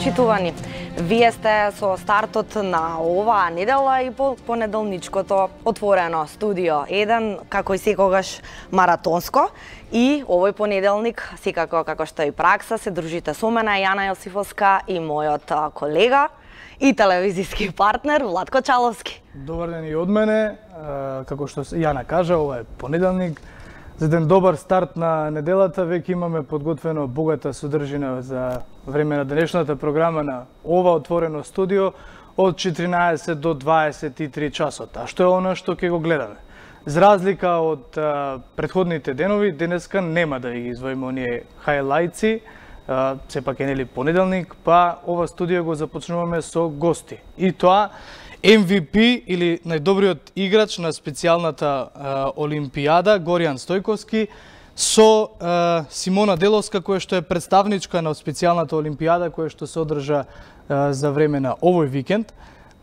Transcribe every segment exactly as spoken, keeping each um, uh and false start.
почитувани. Вие сте со стартот на оваа недела и по понеделничкото отворено студио еден, како и секогаш маратонско. И овој понеделник, секако како што е и пракса, се дружите со мене, Јана Јосифовска и мојот колега и телевизиски партнер Владко Чаловски. Добар ден и од мене. Како што Јана кажа, ова е понеделник. За еден добар старт на неделата веќе имаме подготвено богата содржина за време на денешната програма на ова отворено студио од четиринаесет до дваесет и три часот. А што е она што ќе го гледаме? За разлика од а, предходните денови, денеска нема да ги извоиме оние хајлајци, а, сепак е нели понеделник, па ова студио го започнуваме со гости. И тоа Ем Ви Пи или најдобриот играч на специјалната а, Олимпијада, Горијан Стојковски, со а, Симона Деловска, која што е представничка на специјалната Олимпијада, која што се одржа а, за време на овој викенд.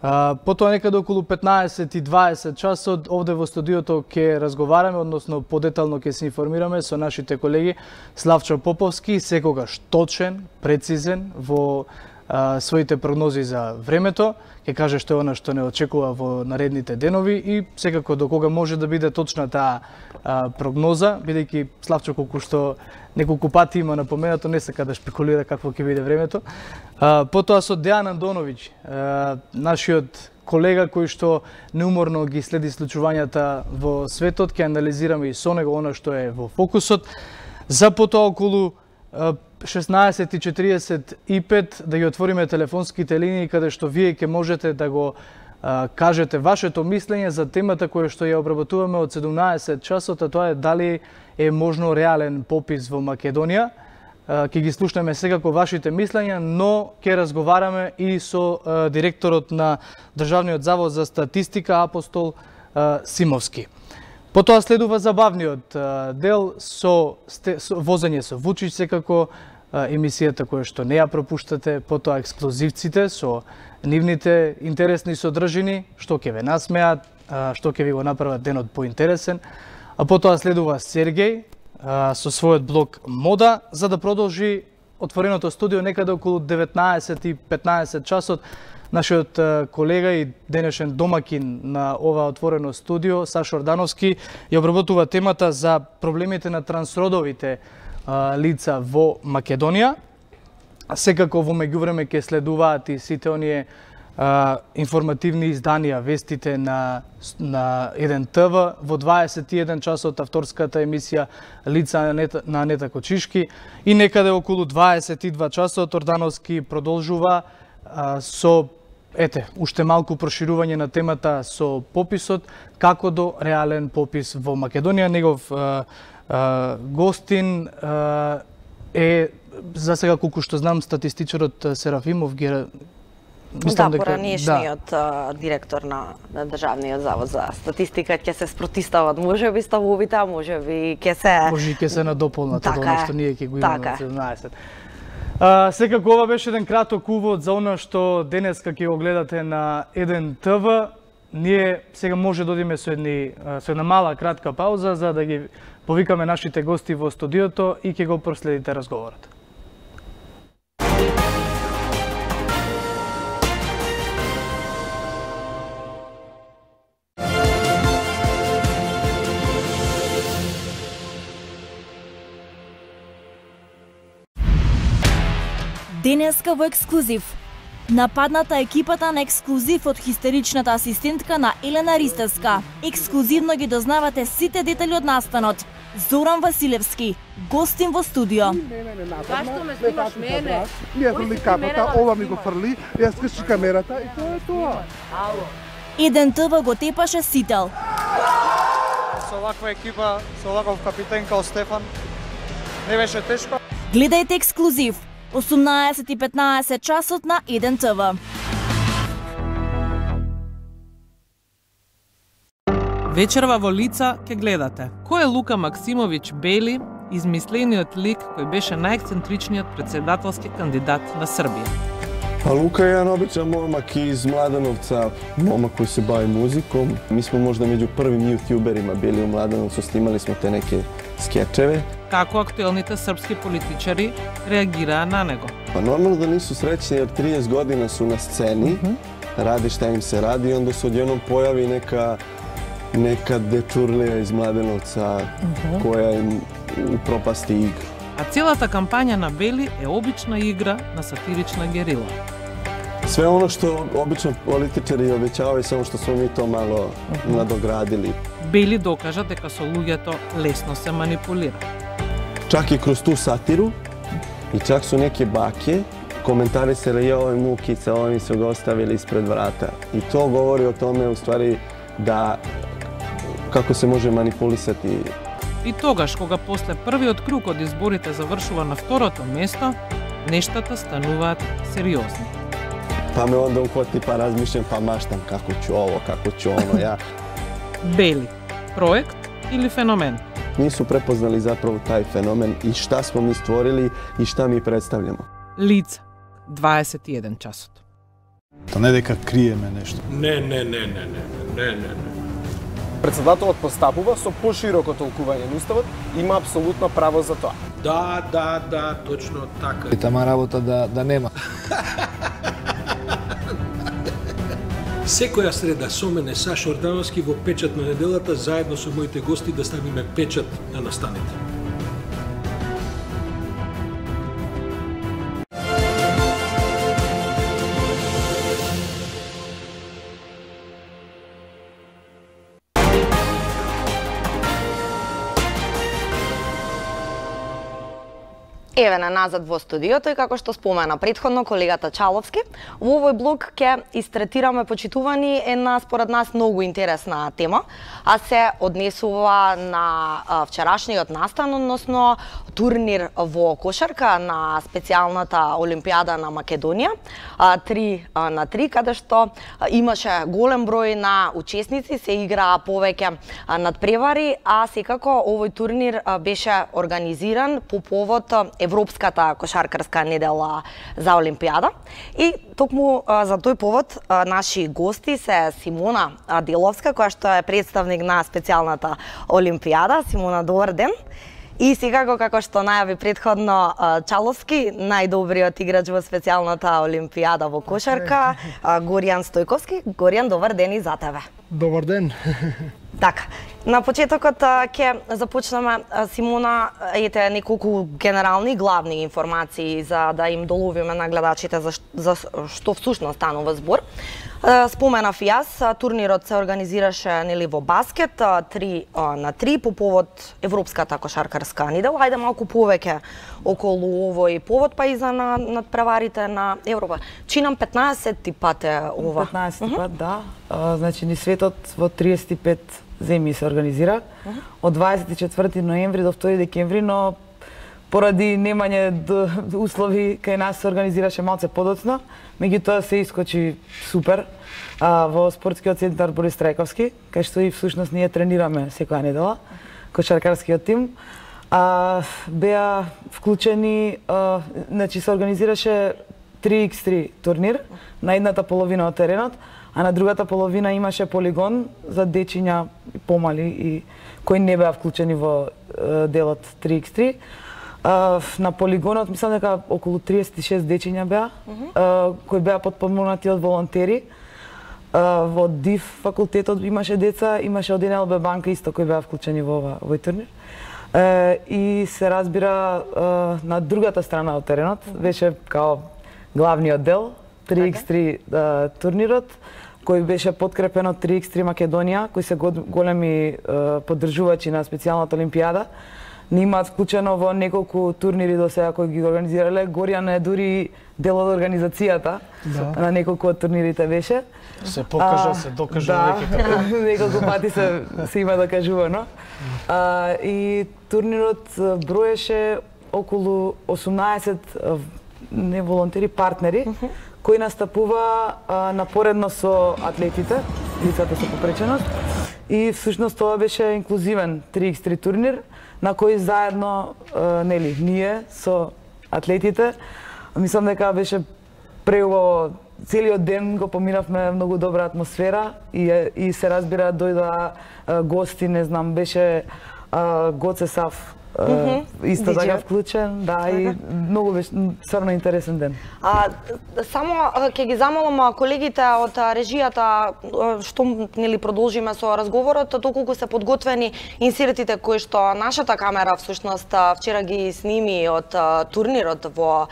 А, потоа некаде околу петнаесет и дваесет часот овде во студиото ќе разговараме, односно подетално ќе се информираме со нашите колеги Славчо Поповски, секогаш точен, прецизен во а, своите прогнози за времето. Ќе каже што е она што не очекува во наредните денови и секако до кога може да биде точна таа а, прогноза, бидејќи Славчо колку што неколку пати има напоменато, не сака да шпекулира какво ќе биде времето. А, потоа со Дејан Андоновиќ, а, нашиот колега кој што неуморно ги следи случувањата во светот, ќе анализираме и со него она што е во фокусот. За потоа околу шеснаесет и четиридесет и пет да ги отвориме телефонските линии каде што вие ќе можете да го а, кажете вашето мислење за темата која што ја обработуваме од седумнаесет часот, а тоа е дали е можно реален попис во Македонија. А, ќе ги слушнеме секако вашите мислења, но ќе разговараме и со а, директорот на Државниот завод за статистика Апостол а, Симовски. Потоа следува забавниот а, дел со, сте, со возење со Вучич, секако а, емисијата која што не ја пропуштате, потоа ексклузивците со нивните интересни содржини, што ќе ве насмеат, а, што ќе ви го направат денот поинтересен, а потоа следува Сергеј а, со својот блог Мода, за да продолжи отвореното студио некаде околу деветнаесет и петнаесет часот. Нашиот колега и денешен домакин на ова отворено студио, Сашо Ордановски, ја обработува темата за проблемите на трансродовите а, лица во Македонија. Секако во меѓувреме ќе следуваат и сите оние а, информативни изданија, вестите на, на еден Т В, во дваесет и еден часот авторската емисија Лица на Анета, на Анета Кочишки и некаде околу дваесет и два часот Ордановски продолжува а, со Ете, уште малку проширување на темата со пописот, како до реален попис во Македонија. Негов а, а, гостин а, е, за сега колку што знам, статистичарот Серафимов ги Мислам да, дека поранешниот да. директор на, на Државниот завод за статистика ќе се спротистават, може би ставовите, а може би ќе се може ќе се надополнат од она што ние ќе го имаме така. од седумнаесет. А, секако ова беше еден краток увод за она што денеска ќе го гледате на еден Т В. Ние сега може да одиме со, едни, со една мала кратка пауза за да ги повикаме нашите гости во студиото и ќе го проследите разговорот. Денеска во ексклузив. Нападната екипата на ексклузив од хистеричната асистентка на Елена Ристевска. Ексклузивно ги дознавате сите детали од настанот. Зоран Василевски, гостин во студио. Зашто ме снимаш мене? Ние фрли капата, ова ми го фрли, јас скрши камерата и тоа е тоа. Еден Т В го тепаше сител. Со оваква екипа, со оваков капитен као Стефан, не беше тешко. Гледајте ексклузив. осумнаесет и петнаесет часот на еден Т В. Вечерва во Лица ќе гледате кој е Лука Максимовиќ Бели, измислениот лик кој беше најексцентричниот председателски кандидат на Србија. А Лука е еден обичен момак из Младеновца, момак кој се бави музиком. Ми сме можда меѓу првим јутјуберима били у Младеновцу, снимали сме те неке скечеве. како актуелните српски политичари реагираа на него. Па нормално да нису среќни, jer trideset година су на сцени, mm -hmm. ради šta им се ради и онда се одједном појаvi нека нека дечурлија из Младеновца mm -hmm. која им упропасти игру. А целата кампања на Бели е обична игра на сатирична герила. Све оно што обично политичари обеќаваат, само што смо ми то мало mm -hmm. надоградили. Бели докажа дека со луѓето лесно се манипулира. Чак и кроз ту сатиру, и чак со неки баке, коментари се реја овој мукица, овој ми се го оставили испред врата. И то говори о томе, у ствари, да како се може манипулисати. И тогаш, кога после првиот круг од изборите завршува на второто место, нештата стануваат сериозни. Па ме онда укоти, па размишлям, па маштам како ќе ово, како ќе оно, ја. Бели, проект или феномен? Нису препознали заправо тај феномен и шта смо ми створили и шта ми представљамо. Лица, дваесет и еден часот. Та не дека криеме нешто. Не, не, не, не, не, не, не, не. Председателот постапува со пошироко толкување на уставот, има апсолутно право за тоа. Да, да, да, точно така. И тама работа да, да нема. Секоја среда со мене Сашо Ордановски во Печат на неделата, заедно со моите гости да ставиме печат на настаните. Еве на назад во студиото и како што спомена претходно колегата Чаловски, во овој блок ќе истретираме, почитувани, една според нас многу интересна тема, а се однесува на вчерашниот настан, односно турнир во кошарка на специјалната Олимпијада на Македонија, три на три, каде што имаше голем број на учесници, се играа повеќе надпревари, а секако овој турнир беше организиран по повод Европската кошаркарска недела за Олимпијада. И токму за тој повод наши гости се Симона Деловска, која што е представник на специјалната Олимпијада. Симона, добар ден. И секако, како што најави предходно Чаловски, најдобриот играч во специјалната Олимпијада во кошарка, Горијан Стојковски. Горијан, добар ден и за тебе. Добар ден. Така, на почетокот ќе започнеме, Симона, ете неколку генерални главни информации за да им доловиме на гледачите за, за што всушност станува збор. Споменав јас, турнирот се организираше нели во баскет, три на три по повод Европската кошаркарска недела. Ајде малку повеќе околу овој повод, па и за на надпреварите на Европа. Чинам петнаесетти пат е ова. петнаесетти uh -huh. пат, да. А, значи ни светот во триесет и пет земји се организира. Uh -huh. Од дваесет и четврти ноември до втори декември, но поради немање услови кај нас се организираше малце подоцна, меѓутоа се искочи супер а, во спортскиот центар Борис Трајковски, кај што и всушност ние тренираме секоја недела, кошаркарскиот тим. А, беа вклучени, а, значи се организираше три икс три турнир на едната половина од теренот, а на другата половина имаше полигон за дечиња помали и кои не беа вклучени во а, делот три икс три. Uh, на полигонот мислам дека околу триесет и шест дечиња беа, uh -huh. uh, кои беа потпомогнати од волонтери. Uh, во ДИФ факултетот имаше деца, имаше од Ен Ел Бе банка исто кои беа вклучени во ова овој турнир. Uh, и се разбира uh, на другата страна од теренот uh -huh. беше као главниот дел три икс три uh, турнирот, кој беше подкрепен од три икс три Македонија, кои се големи uh, поддржувачи на специјалната Олимпијада. Ни имаат вклучено во неколку турнири до сега кои ги организирале. Горијан е дури дел од организацијата, да. На неколку од турнирите беше. Се покажа, а, се докажа да, веќе. неколку пати се, се има докажувано. А, и турнирот броеше околу осумнаесет не волонтери, партнери, uh -huh. кои настапува а, напоредно со атлетите, лицата со попреченост. И всушност тоа беше инклузивен три икс три турнир, на кој заедно, е, нели, ние со атлетите, мислам дека беше преубаво, целиот ден го поминавме многу добра атмосфера и, и се разбира дојдоа гости, не знам, беше а, Гоце Сав, Uh, исто така вклучен, да, и многу беше стварно интересен ден. А, само ќе ги замолам колегите од режијата што нели продолжиме со разговорот, доколку се подготвени инсертите кои што нашата камера всушност вчера ги сними од турнирот во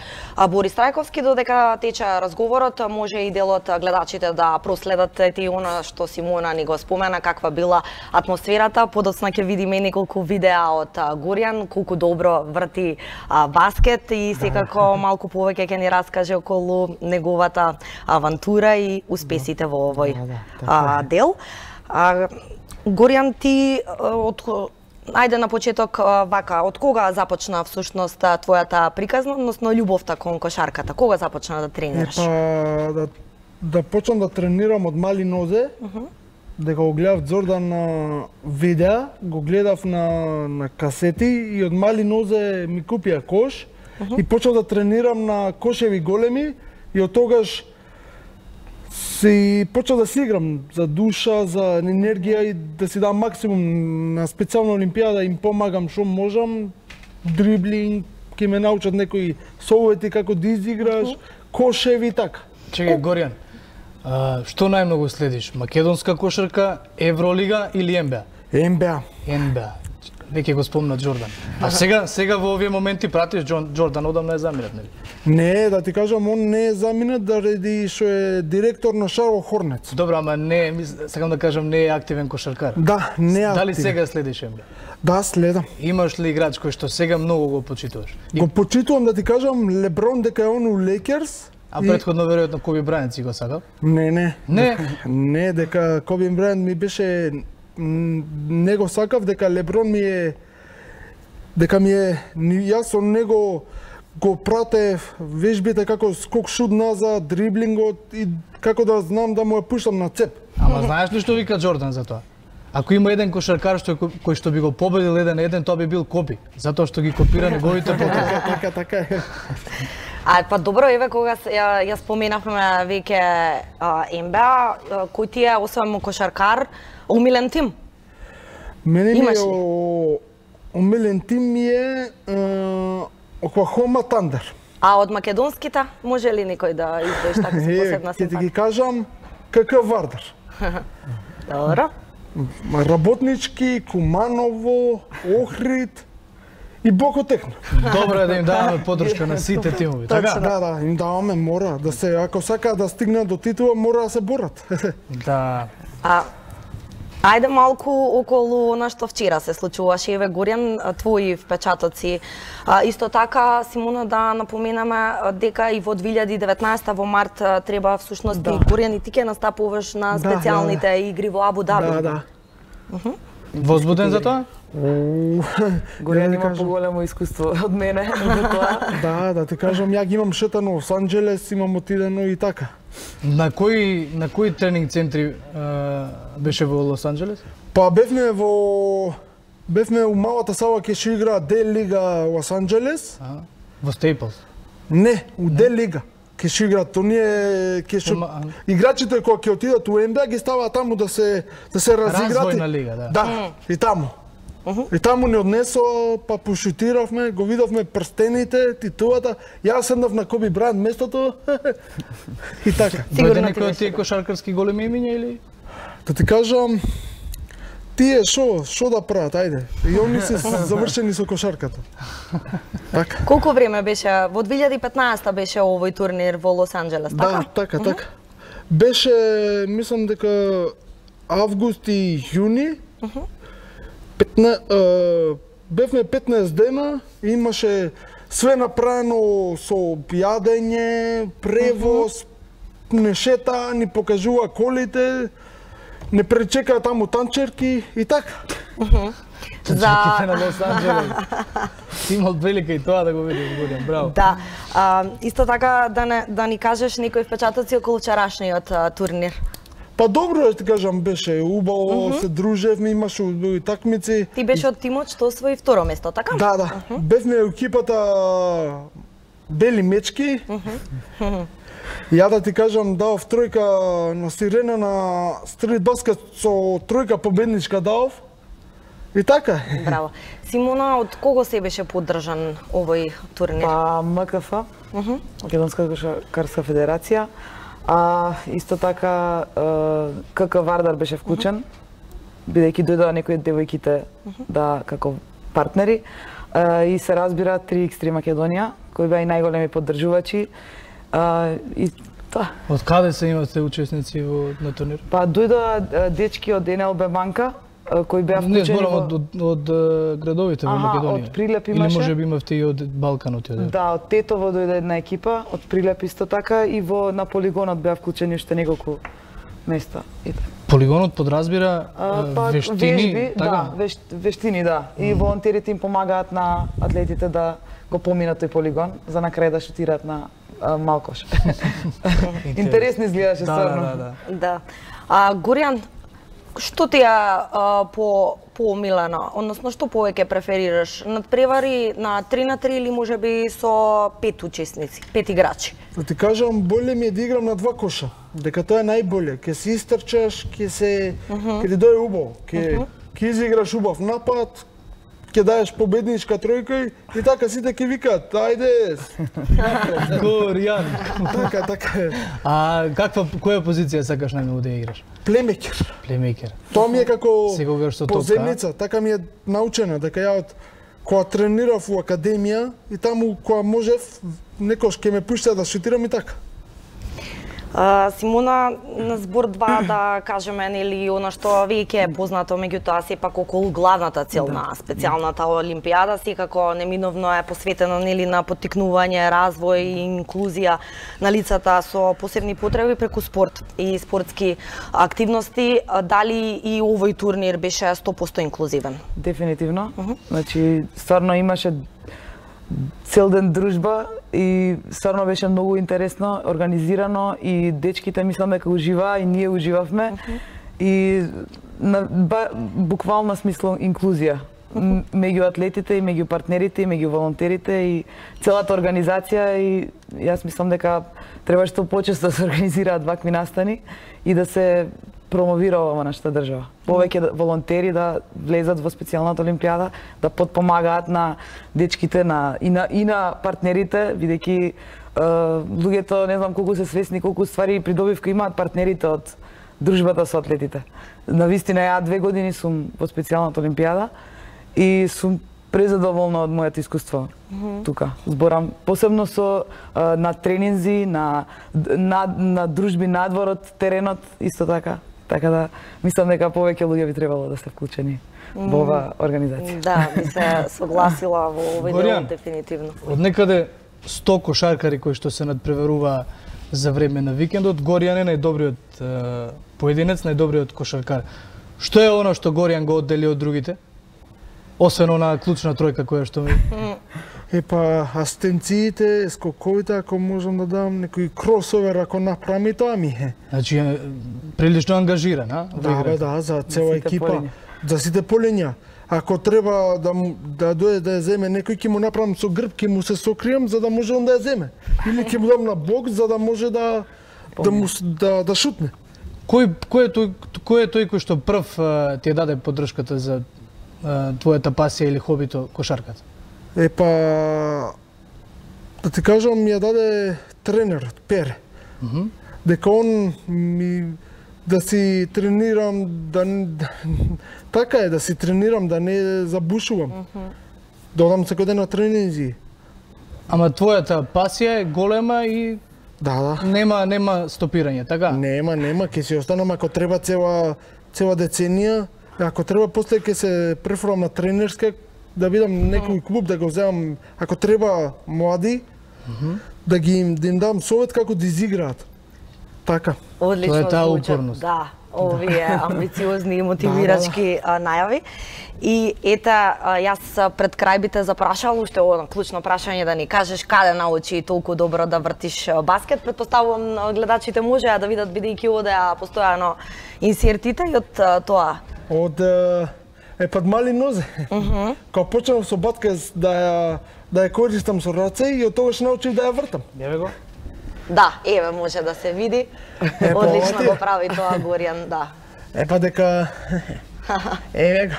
Борис Трајковски, додека тече разговорот, може и дел од гледачите да проследат и она што Симона ни го спомена, каква била атмосферата. Подоцна ќе видиме неколку видеа од Горијан, колку добро врти а, баскет и секако малку повеќе ќе ни раскаже околу неговата авантура и успесите во овој а, дел. А, Горијан, ти од ајде на почеток вака, од кога започна всушност твојата приказна, односно љубовта кон кошарката? Кога започна да тренираш? Епа, да, да почнам да тренирам од мали нозе. Uh -huh. Дека го гледав Џордан на видеа, го гледав на, на касети и од мали нозе ми купија кош uh -huh. и почнав да тренирам на кошеви големи и од тогаш си почнав да си играм за душа, за енергија и да си дам максимум на специјална олимпијада, им помагам што можам, дриблинг, ќе ме научат некои совети како да изиграш, uh -huh. кошеви и така. Чекај, Горијан, а, што најмногу следиш? Македонска кошарка, Евролига или Н Б А? Н Б А. Н Б А. Веќе го спомна Џордан. А сега сега во овие моменти пратиш Џордан, одамна е заминат, нели? Не, да ти кажам, он не е заминат заради што е директор на Шарлот Хорнец. Добро, ама не, сакам да кажам, не е активен кошаркар. Да, не е активен. Дали сега следиш Н Б А? Да, следам. Имаш ли играч кој што сега многу го почитуваш? Го почитувам, да ти кажам, Леброн дека е он у Лейкерс. А предходно веројатно Коби Брајант си го сакал? Не, не. Не? Дека, не, дека Коби Брајант ми беше... Не го сакав, дека Леброн ми е... Дека ми е... Јас со него го пратев вежбите како скок шут назад, дриблингот и како да знам да му ја пуштам на цеп. Ама знаеш ли што вика Џордан за тоа? Ако има еден кошаркар што кој што би го победил еден на еден, тоа би бил Коби, затоа што ги копира неговите потези. Така, така е. А па добро, еве кога ја, ја споменавме веќе Н Б А, кој ти е освен кошаркар, омилен тим? Мене ми е омилен тим ми е Оклахома Тандер. А од македонските може ли некој да издвоиш така со посебна симпатија? Ќе ти ги кажам КК Вардар. Добро. Работнички, Куманово, Охрид и Боко Техно. Добро е да им даваме подршка на сите тимови, така? Да, да, им даваме, мора да се, ако сакаат да стигнат до титула, мора да се борат. Да. А ајде малку околу на што вчера се случуваше, еве Горијан, твои впечатоци. А, исто така, Симона, да напоменаме дека и во две илјади и деветнаесета во март треба всушност да. И Горијан и ти ќе настапуваш на специјалните да, да. игри во Абу Даби. Да, да. Uh -huh. Возбуден за тоа? Горијан има поголемо искуство од мене за тоа. Да, да ти кажам, ја ги имам шетано во Лос Анџелес, имам отидено и така. На кои на кои тренинг центри а, беше во Лос Анџелес? Па бевме во бевме у малата сала ке што игра Д Лига Лос Анџелес. А, во Стейплс? Не, у Д Лига. Ке што играат, оние ке што играчите кои ќе отидат у Н Б А ги ставаат таму да се да се разиграат. Развојна лига, да. Да, и таму. Uh -huh. И таму ни однесо, па пошутиравме, го видовме прстените, титулата. Јас седнав на Коби Брајант местото. И така. Дојде некој од тие кошаркарски големи имиња или? Да ти кажам, тие шо, шо да прават, ајде. И они се завршени со кошарката. Така. Колку време беше? Во две илјади и петнаесета беше овој турнир во Лос Анџелес, така? Да, така, така. Беше, мислам дека август и јуни. петнаесет, uh, бевме петнаесет дена, имаше све направено со јадење, превоз, uh -huh. не шета, ни покажува колите, не пречека таму танчерки и така. Uh -huh. Танчерките на Лос Анџелес. Имал прилика и тоа да го видиш, Горијан, браво. Да, а, исто така да, не, да ни кажеш некои впечатоци околу вчерашниот турнир. Па добро да ти кажам, беше убаво, uh -huh. се дружевме, имаше убави такмици. Ти беше од тимот што освои второ место, така? Да, да. Uh -huh. Бевме екипата Бели мечки. Uh -huh. Ја да ти кажам, дав тројка на Сирена на стрит баскет со тројка победничка дав. И така. Браво. Симона, од кого се беше поддржан овој турнир? Па М К Ф, Македонска кошаркарска федерација, а исто така К К Вардар беше вклучен, бидејќи дојдоа некои од девојките да како партнери, и се разбира три икс три Македонија, кои беа и најголеми поддржувачи. И тоа. Од каде се имате учесници во на турнир? Па дојдоа дечки од Н Л Б банка, кои беа вклучени. Не, зборам од, од, од градовите во Македонија. Од Прилеп имаше. Или може би имавте и од Балканот? Да, од Тетово дојде една екипа, од Прилеп исто така, и во на полигонот беа вклучени уште неколку места. И така. Полигонот подразбира а, па, вештини, вежби, така? Да, веш, вештини, да. И волонтерите им помагаат на атлетите да го поминат тој полигон, за на крај да шутираат на а, малкош. Интересно изгледаше, да, стварно. Да, да, да. Да. А, Горијан, што ти е по поомилено, односно што повеќе преферираш? Надпревари на три на три или можеби со пет учесници, пет играчи? Да ти кажам, боле ми е да играм на два коша. Дека тоа е најболе. Ке се истрчаш, ке се uh -huh. ке ти дое убаво, ке uh -huh. ке изиграш убав напад, ке даеш победничка тројка и така сите ке викаат, ајде. Горијан. Така, така е. А каква која позиција сакаш најмногу да играш? Плеймекер. Плеймекер. Тоа ми е како секогаш со поземница, така ми е научена, дека ја од кога тренирав во академија и таму кога можев некош ке ме пушта да шутирам и така. Uh, Симона, на збор два да кажеме, нели, она што веќе е познато, меѓутоа сепак околу главната цел да. На специјалната олимпијада, секако неминовно е посветено, нели, на поттикнување, развој и инклузија на лицата со посебни потреби преку спорт и спортски активности. Дали и овој турнир беше сто проценти инклузивен? Дефинитивно. Uh -huh. Значи, стварно имаше цел ден дружба и стварно беше многу интересно, организирано и дечките мислам дека уживаа и ние уживавме. Uh -huh. И на ба, буквално смисло инклузија uh -huh. меѓу атлетите и меѓу партнерите и меѓу волонтерите и целата организација, и јас мислам дека треба што почесто да се организираат вакви настани и да се промовира ова нашата држава. Повеќе волонтери да влезат во специјалната олимпијада, да подпомагаат на дечките, на и на и на партнерите, бидејќи луѓето не знам колку се свесни колку ствари и придобивка имаат партнерите од дружбата со атлетите. Навистина ја две години сум во специјалната олимпијада и сум презадоволна од моето искуство mm -hmm. тука. Зборам посебно со а, на тренинзи, на, на на дружби надвор од теренот исто така. Така да мислам дека повеќе луѓе би требало да се вклучени во оваа организација. Да, би се согласила во овој дел дефинитивно. Од некаде сто кошаркари кои што се надпреварува за време на викендот, Горијан е најдобриот е, поединец, најдобриот кошаркар. Што е оно што Горијан го оддели од другите? Освен она клучна тројка која што ми... Епа, асистенциите, скоковите, ако можам да дам некој кросовер, ако направи, тоа ми е. Значи, е прилично ангажиран, а? Да, бе, да, за цела екипа, за сите полиња. Ако треба да да дојде да ја земе некој, ќе му направам со грб, ќе му се сокрием за да може он да ја земе. Или ќе му дам на бок за да може да да му да да шутне. Кој кој е тој кој е тој кој што прв ти ја даде поддршката за твојата пасија или хобито кошарката? Епа, да ти кажам, ми ја даде тренерот, Пере. Mm -hmm. Дека он ми да си тренирам, да, да така е, да си тренирам, да не забушувам. Mm -hmm. Да одам секој ден на тренинзи. Ама твојата пасија е голема и да, да. Нема нема стопирање, така? Нема, нема, ќе си останам ако треба цела цела деценија. Ако треба после ќе се префрлам на тренерска, да видам некој клуб да го земам, ако треба млади, mm -hmm. да ги им, да им дам совет како да изиграат. Така. Одлично. Тоа е таа упорност. Да, овие амбициозни и мотивирачки да, да. најави. И ета, јас пред крај би те запрашал уште одно клучно прашање да ни кажеш каде научи толку добро да вртиш баскет. Предпоставувам гледачите можеа да видат бидејќи одеа постојано инсертите и од тоа. Од е пад мали нозе. Uh -huh. Кога почнав со баскет да ја да ја користам со раце и од тогаш научив да ја вртам. Еве го. Да, еве може да се види. Е, одлично го прави тоа Горијан, да. Епа дека еве го.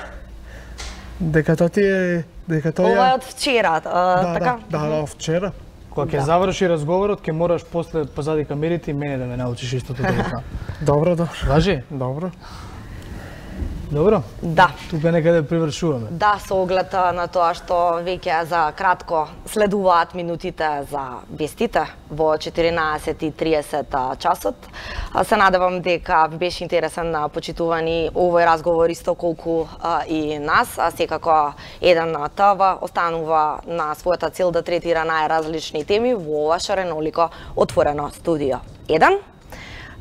Дека тоа ти е... Дека тоа Ова е од вчера, Да, така? да, да, да, вчера. Кога ќе заврши разговорот, ќе мораш после позади камерите и мене да ме научиш истото да го. Добро, добро. Важи? Добро. Добро? Да. Тука некаде привршуваме. Да, со оглед на тоа што веќе за кратко следуваат минутите за вестите во четиринаесет и триесет часот. Се надевам дека ви беше интересен на почитувани овој разговор исто колку а, и нас, а секако еден ТВ останува на својата цел да третира најразлични теми во ова шаренолико отворено студио еден.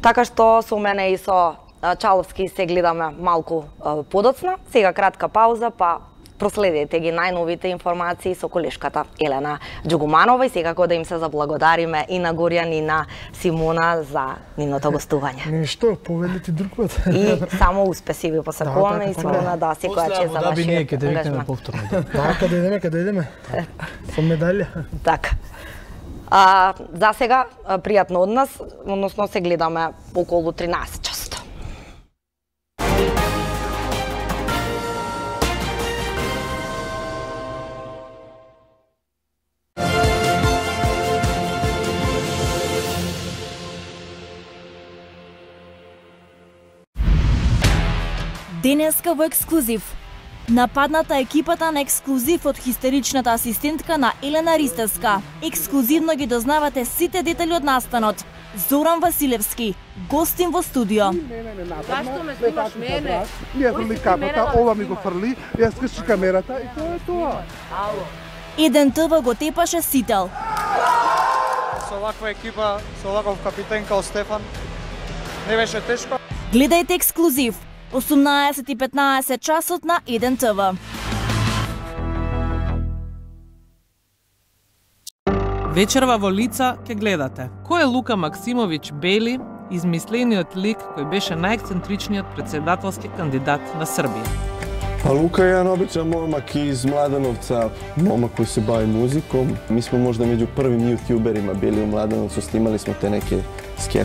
Така што со мене и со Чаловски се гледаме малку подоцна. Сега кратка пауза, па проследете ги најновите информации со колешката Елена Џугуманова и секако да им се заблагодариме и на Горјан и на Симона за нивното гостување. Ништо, повелите друг пат. И само успеси ви посакуваме и Симона да секоја чест за вашиот ангажмент. Да, каде идеме, каде идеме? Со медалја. Така. А, за сега пријатно од нас, односно се гледаме околу тринаесет часот. Денеска во ексклузив. Нападната екипата на ексклузив од хистеричната асистентка на Елена Ристевска. Ексклузивно ги дознавате сите детали од настанот. Зоран Василевски, гостин во студио. Зашто ме снимаш мене? Ние фрли капата, ова ми го фрли, јас скрши камерата и тоа е тоа. Еден ТВ го тепаше сител. Со оваква екипа, со оваков капитен као Стефан, не беше тешко. Гледајте ексклузив. осумнаесет и петнаесет часот на еден ТВ. Вечерва во лица ќе гледате. Кој е Лука Максимовиќ Бели, измислениот лик кој беше најексцентричниот председателски кандидат на Србија? Па Лука е еден обичан момак из Младеновца, момак кој се бави музиком. Mi smo možda među prvim youtuberima bili u Mladenovcu, snimali smo te neke sketche